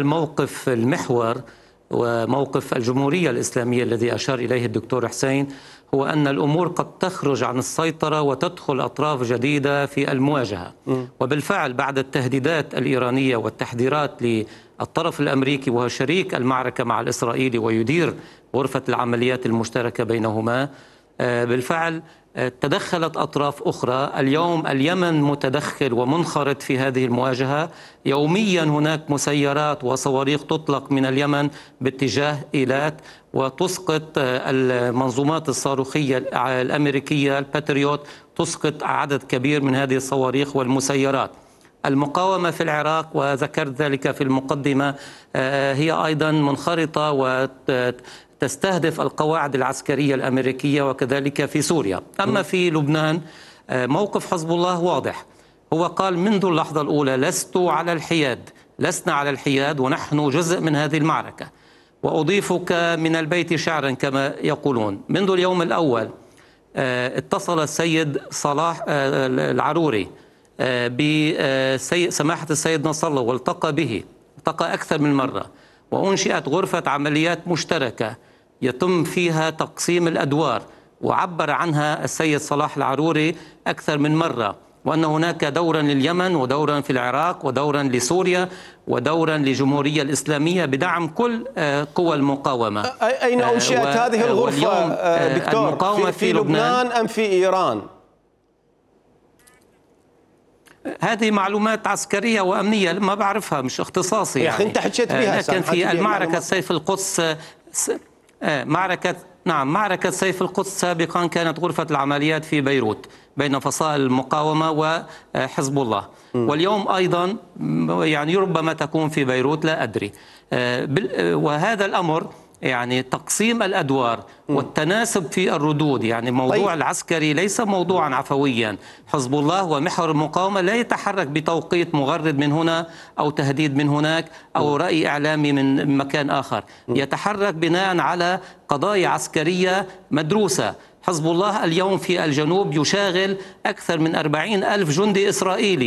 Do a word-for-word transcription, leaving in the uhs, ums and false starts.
الموقف المحور وموقف الجمهورية الإسلامية الذي أشار إليه الدكتور حسين هو أن الأمور قد تخرج عن السيطرة وتدخل أطراف جديدة في المواجهة. م. وبالفعل بعد التهديدات الإيرانية والتحذيرات للطرف الأمريكي وهو شريك المعركة مع الإسرائيلي ويدير غرفة العمليات المشتركة بينهما، بالفعل تدخلت أطراف أخرى. اليوم اليمن متدخل ومنخرط في هذه المواجهة. يوميا هناك مسيرات وصواريخ تطلق من اليمن باتجاه إيلات وتسقط المنظومات الصاروخية الأمريكية الباتريوت، تسقط عدد كبير من هذه الصواريخ والمسيرات. المقاومة في العراق وذكرت ذلك في المقدمة هي أيضا منخرطة وتستهدف القواعد العسكرية الأمريكية وكذلك في سوريا. أما في لبنان موقف حزب الله واضح، هو قال منذ اللحظة الأولى لست على الحياد، لسنا على الحياد ونحن جزء من هذه المعركة. وأضيفك من البيت شعرا كما يقولون. منذ اليوم الأول اتصل السيد صلاح العروري بسماحة السيد نصر الله والتقى به، التقى أكثر من مرة، وأنشئت غرفة عمليات مشتركة يتم فيها تقسيم الأدوار، وعبر عنها السيد صلاح العروري أكثر من مرة، وأن هناك دورا لليمن ودورا في العراق ودورا لسوريا ودورا للجمهورية الإسلامية بدعم كل قوى المقاومة. أين أنشئت هذه الغرفة دكتور؟ في, في لبنان أم في إيران؟ هذه معلومات عسكرية وأمنية ما بعرفها، مش اختصاصي يا أخي يعني. أنت حكيت بها. لكن في المعركة سيف القدس معركة نعم معركة سيف القدس سابقا كانت غرفة العمليات في بيروت بين فصائل المقاومة وحزب الله، واليوم أيضا يعني ربما تكون في بيروت، لا أدري. وهذا الأمر يعني تقسيم الأدوار والتناسب في الردود، يعني الموضوع العسكري ليس موضوعا عفويا. حزب الله ومحور المقاومة لا يتحرك بتوقيت مغرد من هنا أو تهديد من هناك أو رأي إعلامي من مكان آخر، يتحرك بناء على قضايا عسكرية مدروسة. حزب الله اليوم في الجنوب يشاغل أكثر من أربعين ألف جندي إسرائيلي.